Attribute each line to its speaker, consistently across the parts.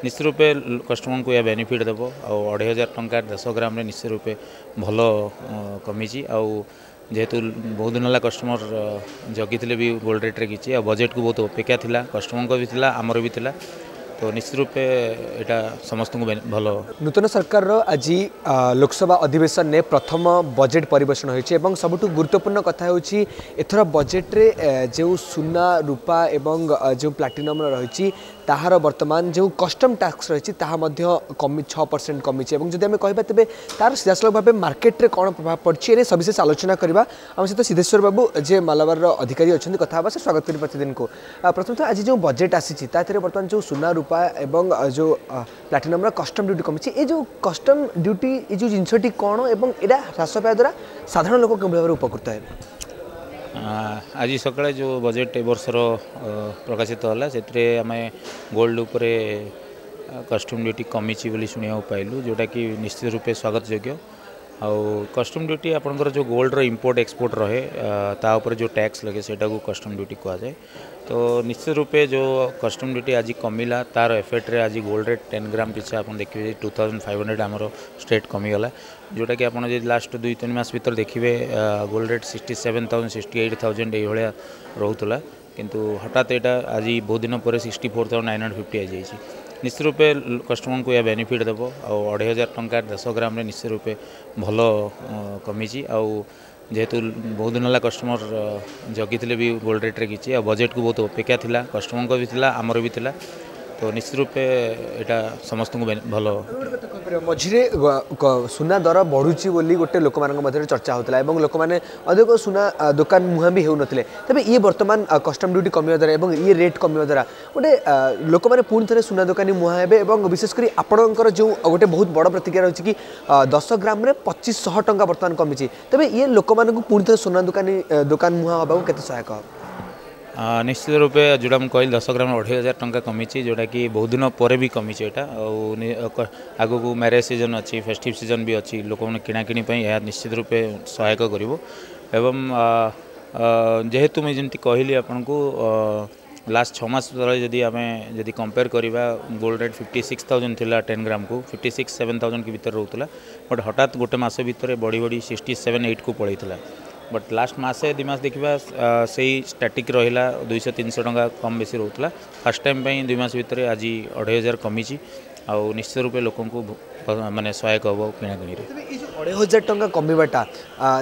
Speaker 1: ନିଶ୍ଚିତ ରୂପେ କଷ୍ଟମରଙ୍କୁ ଏହା ବେନିଫିଟ୍ ଦେବ। ଆଉ 2500 ଟଙ୍କା 10 ଗ୍ରାମରେ ନିଶ୍ଚିତ ରୂପେ ଭଲ କମିଛି। ଆଉ ଯେହେତୁ ବହୁତ ଦିନ ହେଲା କଷ୍ଟମର ଜଗିଥିଲେ ବି ଗୋଲ୍ଡ ରେଟ୍ରେ କିଛି, ଆଉ ବଜେଟ୍କୁ ବହୁତ ଅପେକ୍ଷା ଥିଲା, କଷ୍ଟମରଙ୍କ ବି ଥିଲା, ଆମର ବି ଥିଲା, ତ ନିଶ୍ଚିତ ରୂପେ ଏଇଟା ସମସ୍ତଙ୍କୁ ଭଲ।
Speaker 2: ନୂତନ ସରକାରର ଆଜି ଲୋକସଭା ଅଧିବେଶନରେ ପ୍ରଥମ ବଜେଟ୍ ପରିବେଷଣ ହୋଇଛି ଏବଂ ସବୁଠୁ ଗୁରୁତ୍ୱପୂର୍ଣ୍ଣ କଥା ହେଉଛି, ଏଥର ବଜେଟ୍ରେ ଯେଉଁ ସୁନା, ରୂପା ଏବଂ ଯେଉଁ ପ୍ଲାଟିନମ୍ର ରହିଛି, ତାହାର ବର୍ତ୍ତମାନ ଯେଉଁ କଷ୍ଟମ୍ ଟ୍ୟାକ୍ସ ରହିଛି, ତାହା ମଧ୍ୟ କମି 6% କମିଛି। ଏବଂ ଯଦି ଆମେ କହିବା, ତେବେ ତାର ସିଧାସଳଖ ଭାବେ ମାର୍କେଟରେ କ'ଣ ପ୍ରଭାବ ପଡ଼ିଛି, ଏ ନେଇ ସବିଶେଷ ଆଲୋଚନା କରିବା। ଆମ ସହିତ ସିଦ୍ଧେଶ୍ୱର ବାବୁ, ଯେ ମାଲାବାରର ଅଧିକାରୀ ଅଛନ୍ତି, କଥା ହେବା। ସେ ସ୍ୱାଗତ କରି ପ୍ରତିଦିନକୁ। ପ୍ରଥମତଃ ଆଜି ଯେଉଁ ବଜେଟ୍ ଆସିଛି, ତା ଦେହରେ ବର୍ତ୍ତମାନ ଯେଉଁ ସୁନା, ରୂପା ଏବଂ ଯେଉଁ ପ୍ଲାଟିନମ୍ର କଷ୍ଟମ୍ ଡ୍ୟୁଟି କମିଛି, ଏ ଯେଉଁ କଷ୍ଟମ୍ ଡ୍ୟୁଟି, ଏ ଯେଉଁ ଜିନିଷଟି କ'ଣ ଏବଂ ଏଇଟା ହ୍ରାସ ପାଇବା ଦ୍ୱାରା ସାଧାରଣ ଲୋକ କେଉଁ ଭାବରେ ଉପକୃତ ହେବେ?
Speaker 1: ଆଜି ସକାଳେ ଯେଉଁ ବଜେଟ୍ ଏ ବର୍ଷର ପ୍ରକାଶିତ ହେଲା, ସେଥିରେ ଆମେ ଗୋଲ୍ଡ ଉପରେ କଷ୍ଟମ୍ ଡ୍ୟୁଟି କମିଛି ବୋଲି ଶୁଣିବାକୁ ପାଇଲୁ, ଯେଉଁଟାକି ନିଶ୍ଚିତ ରୂପେ ସ୍ୱାଗତ ଯୋଗ୍ୟ। ଆଉ କଷ୍ଟମ୍ ଡ୍ୟୁଟି ଆପଣଙ୍କର ଯେଉଁ ଗୋଲ୍ଡର ଇମ୍ପୋର୍ଟ ଏକ୍ସପୋର୍ଟ ରହେ, ତା ଉପରେ ଯେଉଁ ଟ୍ୟାକ୍ସ ଲାଗେ, ସେଇଟାକୁ କଷ୍ଟମ୍ ଡ୍ୟୁଟି କୁହାଯାଏ। ତ ନିଶ୍ଚିତ ରୂପେ ଯେଉଁ କଷ୍ଟମ୍ ଡ୍ୟୁଟି ଆଜି କମିଲା, ତାର ଏଫେକ୍ଟରେ ଆଜି ଗୋଲ୍ଡ ରେଟ୍ 10 ଗ୍ରାମ ପିଛା ଆପଣ ଦେଖିବେ 2500 ଆମର ଷ୍ଟ୍ରେଟ୍ କମିଗଲା, ଯେଉଁଟାକି ଆପଣ ଯଦି ଲାଷ୍ଟ 2-3 ମାସ ଭିତରେ ଦେଖିବେ, ଗୋଲ୍ଡ ରେଟ୍ 67,000, 68,000 ଏଇଭଳିଆ ରହୁଥିଲା। କିନ୍ତୁ ହଠାତ୍ ଏଇଟା ଆଜି ବହୁତ ଦିନ ପରେ 64,950 ହେଇଯାଇଛି। ନିଶ୍ଚିତ ରୂପେ କଷ୍ଟମରଙ୍କୁ ଏହା ବେନିଫିଟ୍ ଦେବ। ଆଉ 2500 ଟଙ୍କା 10 ଗ୍ରାମରେ ନିଶ୍ଚିତ ରୂପେ ଭଲ କମିଛି। ଆଉ ଯେହେତୁ ବହୁତ ଦିନ ହେଲା କଷ୍ଟମର ଜଗିଥିଲେ ବି ଗୋଲ୍ଡ ରେଟ୍ରେ କିଛି, ଆଉ ବଜେଟ୍କୁ ବହୁତ ଅପେକ୍ଷା ଥିଲା, କଷ୍ଟମରଙ୍କ ବି ଥିଲା, ଆମର ବି ଥିଲା, ତ ନିଶ୍ଚିତ ରୂପେ ଏଇଟା ସମସ୍ତଙ୍କୁ ଭଲ।
Speaker 2: ଗୋଟେ କଥା କହିପାରିବ, ମଝିରେ ସୁନା ଦର ବଢ଼ୁଛି ବୋଲି ଗୋଟେ ଲୋକମାନଙ୍କ ମଧ୍ୟରେ ଚର୍ଚ୍ଚା ହେଉଥିଲା ଏବଂ ଲୋକମାନେ ଅଧିକ ସୁନା ଦୋକାନ ମୁହାଁ ବି ହେଉନଥିଲେ। ତେବେ ଇଏ ବର୍ତ୍ତମାନ କଷ୍ଟମ୍ ଡ୍ୟୁଟି କମିବା ଦ୍ୱାରା ଏବଂ ଇଏ ରେଟ୍ କମିବା ଦ୍ୱାରା ଗୋଟେ ଲୋକମାନେ ପୁଣି ଥରେ ସୁନା ଦୋକାନୀ ମୁହାଁ ହେବେ। ଏବଂ ବିଶେଷ କରି ଆପଣଙ୍କର ଯେଉଁ ଗୋଟେ ବହୁତ ବଡ଼ ପ୍ରତିକ୍ରିୟା ରହିଛି କି 10 ଗ୍ରାମରେ 2500 ଟଙ୍କା ବର୍ତ୍ତମାନ କମିଛି, ତେବେ ଇଏ ଲୋକମାନଙ୍କୁ ପୁଣି ଥରେ ସୁନା ଦୋକାନ ମୁହାଁ ହେବାକୁ କେତେ ସହାୟକ ହେବ?
Speaker 1: ନିଶ୍ଚିତ ରୂପେ ଯେଉଁଟା ମୁଁ କହିଲି, 10 ଗ୍ରାମ 2500 ଟଙ୍କା କମିଛି, ଯେଉଁଟାକି ବହୁତ ଦିନ ପରେ ବି କମିଛି ଏଇଟା। ଆଉ ଆଗକୁ ମ୍ୟାରେଜ୍ ସିଜନ୍ ଅଛି, ଫେଷ୍ଟିଭ୍ ସିଜନ୍ ବି ଅଛି, ଲୋକମାନେ କିଣାକିଣି ପାଇଁ ଏହା ନିଶ୍ଚିତ ରୂପେ ସହାୟକ କରିବ। ଏବଂ ଯେହେତୁ ମୁଁ ଯେମିତି କହିଲି ଆପଣଙ୍କୁ, ଲାଷ୍ଟ 6 ମାସ ତଳେ ଯଦି ଆମେ ଯଦି କମ୍ପେୟାର କରିବା, ଗୋଲ୍ଡ ରେଟ୍ 56,000 ଥିଲା, 10 ଗ୍ରାମକୁ 56-7 ଥାଉଜେଣ୍ଡ ଭିତରେ ରହୁଥିଲା। ବଟ୍ ହଠାତ୍ ଗୋଟେ ମାସ ଭିତରେ ବଢ଼ି ବଢ଼ି 67-8କୁ ପଳେଇଥିଲା। ବଟ୍ ଲାଷ୍ଟ ମାସେ 2 ମାସ ଦେଖିବା, ସେଇ ଷ୍ଟାଟିକ୍ ରହିଲା, 200-300 ଟଙ୍କା କମ୍ ବେଶୀ ରହୁଥିଲା। ଫାର୍ଷ୍ଟ ଟାଇମ୍ ପାଇଁ 2 ମାସ ଭିତରେ ଆଜି 2500 କମିଛି ଆଉ ନିଶ୍ଚିତ ରୂପେ ଲୋକଙ୍କୁ ମାନେ ସହାୟକ ହେବ କିଣାକିଣିରେ।
Speaker 2: ତେବେ ଏଇ ଯେଉଁ 2500 ଟଙ୍କା କମିବାଟା,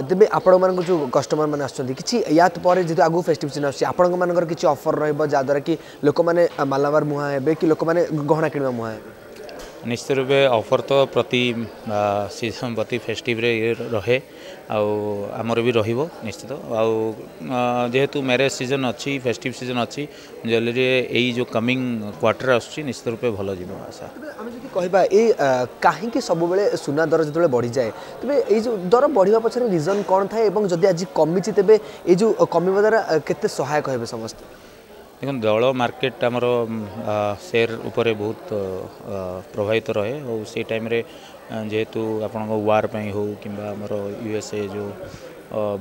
Speaker 2: ତେବେ ଆପଣମାନଙ୍କ ଯେଉଁ କଷ୍ଟମର ମାନେ ଆସୁଛନ୍ତି, କିଛି ୟା ପରେ ଯେହେତୁ ଆଗକୁ ଫେଷ୍ଟିଭ୍ ସିଜନ୍ ଆସୁଛି, ଆପଣଙ୍କ ମାନଙ୍କର କିଛି ଅଫର୍ ରହିବ, ଯାହାଦ୍ୱାରା କି ଲୋକମାନେ ମାଲାମାଲ ମୁହାଁ ହେବେ କି ଲୋକମାନେ ଗହଣା କିଣିବା ମୁହାଁ ହେବେ?
Speaker 1: ନିଶ୍ଚିତ ରୂପେ ଅଫର୍ ତ ପ୍ରତି ସିଜନ୍, ପ୍ରତି ଫେଷ୍ଟିଭରେ ରହେ ଆଉ ଆମର ବି ରହିବ ନିଶ୍ଚିତ। ଆଉ ଯେହେତୁ ମ୍ୟାରେଜ୍ ସିଜନ୍ ଅଛି, ଫେଷ୍ଟିଭ୍ ସିଜନ୍ ଅଛି, ଜୁଏଲେରୀରେ ଏଇ ଯେଉଁ କମିଂ କ୍ୱାର୍ଟର ଆସୁଛି, ନିଶ୍ଚିତ ରୂପେ ଭଲ ଯିବ ଆଶା।
Speaker 2: ତେବେ ଆମେ ଯଦି କହିବା, ଏଇ କାହିଁକି ସବୁବେଳେ ସୁନା ଦର ଯେତେବେଳେ ବଢ଼ିଯାଏ, ତେବେ ଏଇ ଯେଉଁ ଦର ବଢ଼ିବା ପଛରେ ରିଜନ୍ କ'ଣ ଥାଏ ଏବଂ ଯଦି ଆଜି କମିଛି, ତେବେ ଏଇ ଯେଉଁ କମିବା ଦ୍ୱାରା କେତେ ସହାୟକ ହେବେ ସମସ୍ତେ?
Speaker 1: ଦେଖନ୍ତୁ, ଦର ମାର୍କେଟ ଆମର ସେୟାର ଉପରେ ବହୁତ ପ୍ରଭାବିତ ରହେ। ଆଉ ସେଇ ଟାଇମ୍ରେ ଯେହେତୁ ଆପଣଙ୍କ ୱାର୍ ପାଇଁ ହେଉ କିମ୍ବା ଆମର ୟୁଏସ୍ଏ ଯେଉଁ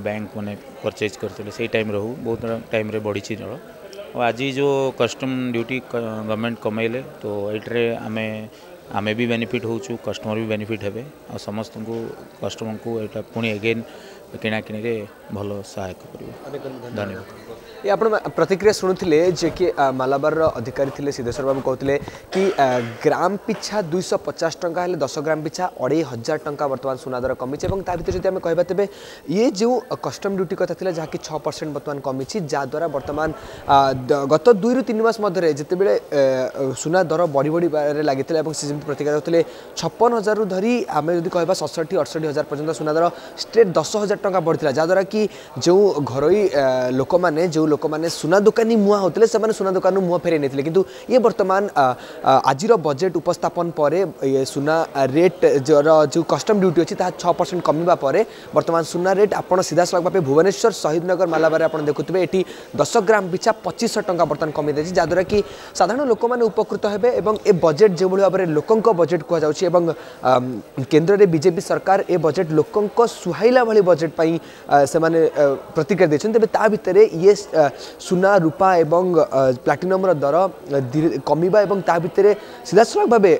Speaker 1: ବ୍ୟାଙ୍କ ମାନେ ପରଚେଜ୍ କରିଥିଲେ, ସେଇ ଟାଇମ୍ରେ ହେଉ, ବହୁତ ଟାଇମ୍ରେ ବଢ଼ିଛି ଦର। ଆଉ ଆଜି ଯେଉଁ କଷ୍ଟମ୍ ଡ୍ୟୁଟି ଗଭର୍ଣ୍ଣମେଣ୍ଟ କମେଇଲେ, ତ ଏଇଥିରେ ଆମେ ବି ବେନିଫିଟ୍ ହେଉଛୁ, କଷ୍ଟମର ବି ବେନିଫିଟ୍ ହେବେ। ଆଉ ସମସ୍ତଙ୍କୁ, କଷ୍ଟମରଙ୍କୁ ଏଇଟା ପୁଣି ଏଗେନ୍ କିଣାକିଣିରେ ଭଲ ସହାୟକ କରିବ। ଧନ୍ୟବାଦ।
Speaker 2: ଏ ଆପଣ ପ୍ରତିକ୍ରିୟା ଶୁଣୁଥିଲେ, ଯିଏକି ମାଲାବାରର ଅଧିକାରୀ ଥିଲେ ସିଦ୍ଧେଶ୍ୱର ବାବୁ, କହୁଥିଲେ କି ଗ୍ରାମ ପିଛା 250 ଟଙ୍କା ହେଲେ 10 ଗ୍ରାମ ପିଛା 2500 ଟଙ୍କା ବର୍ତ୍ତମାନ ସୁନା ଦର କମିଛି। ଏବଂ ତା ଭିତରେ ଯଦି ଆମେ କହିବା, ତେବେ ଇଏ ଯେଉଁ କଷ୍ଟମ୍ ଡ୍ୟୁଟି କଥା ଥିଲା, ଯାହାକି 6% ବର୍ତ୍ତମାନ କମିଛି, ଯାହାଦ୍ୱାରା ବର୍ତ୍ତମାନ ଗତ 2ରୁ 3 ମାସ ମଧ୍ୟରେ ଯେତେବେଳେ ସୁନା ଦର ବଢ଼ି ବଢ଼ିବାରେ ଲାଗିଥିଲା ଏବଂ ସେ ଯେମିତି ପ୍ରତିକ୍ରିୟା ଦେଉଥିଲେ, 56 ହଜାରରୁ ଧରି ଆମେ ଯଦି କହିବା 67-68 ହଜାର ପର୍ଯ୍ୟନ୍ତ ସୁନା ଦର ଷ୍ଟ୍ରେଟ୍ 10,000 ଟଙ୍କା ବଢ଼ିଥିଲା, ଯାହାଦ୍ୱାରା କି ଯେଉଁ ଘରୋଇ ଲୋକମାନେ, ଯେଉଁ ଲୋକମାନେ ସୁନା ଦୋକାନୀ ମୁହାଁ ହେଉଥିଲେ, ସେମାନେ ସୁନା ଦୋକାନରୁ ମୁହଁ ଫେରାଇ ନେଇଥିଲେ। କିନ୍ତୁ ଇଏ ବର୍ତ୍ତମାନ ଆଜିର ବଜେଟ୍ ଉପସ୍ଥାପନ ପରେ, ଇଏ ସୁନା ରେଟ୍ ଯେଉଁ କଷ୍ଟମ୍ ଡ୍ୟୁଟି ଅଛି, ତାହା 6% କମିବା ପରେ ବର୍ତ୍ତମାନ ସୁନା ରେଟ୍ ଆପଣ ସିଧାସଳଖ ଭାବେ ଭୁବନେଶ୍ୱର ଶହୀଦନଗର ମାଲାବାରରେ ଆପଣ ଦେଖୁଥିବେ, ଏଠି 10 ଗ୍ରାମ ପିଛା 2500 ଟଙ୍କା ବର୍ତ୍ତମାନ କମି ଦେଇଛି, ଯାହାଦ୍ୱାରା କି ସାଧାରଣ ଲୋକମାନେ ଉପକୃତ ହେବେ। ଏବଂ ଏ ବଜେଟ୍ ଯେଉଁଭଳି ଭାବରେ ଲୋକଙ୍କ ବଜେଟ୍ କୁହାଯାଉଛି ଏବଂ କେନ୍ଦ୍ରରେ ବିଜେପି ସରକାର, ଏ ବଜେଟ୍ ଲୋକଙ୍କ ସୁହାଇଲା ଭଳି ବଜେଟ୍। ବଜେଟ୍ ପାଇଁ ସେମାନେ ପ୍ରତିକ୍ରିୟା ଦେଇଛନ୍ତି। ତେବେ ତା ଭିତରେ ଇଏ ସୁନା, ରୂପା ଏବଂ ପ୍ଲାଟିନମ୍ର ଦର କମିବା ଏବଂ ତା ଭିତରେ ସିଧାସଳଖ ଭାବେ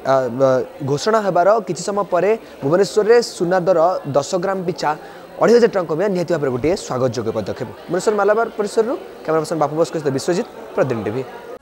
Speaker 2: ଘୋଷଣା ହେବାର କିଛି ସମୟ ପରେ ଭୁବନେଶ୍ୱରରେ ସୁନା ଦର 10 ଗ୍ରାମ ପିଛା 2500 ଟଙ୍କା କମିବା ନିହାତି ଭାବରେ ଗୋଟିଏ ସ୍ୱାଗତ ଯୋଗ୍ୟ ପଦକ୍ଷେପ। ଭୁବନେଶ୍ୱର ମାଲାବାର ପରିସରରୁ କ୍ୟାମେରା ପର୍ସନ ବାପୁ ବୋଷଙ୍କ ସହିତ ବିଶ୍ୱଜିତ, ପ୍ରତିଦିନ ଟିଭି।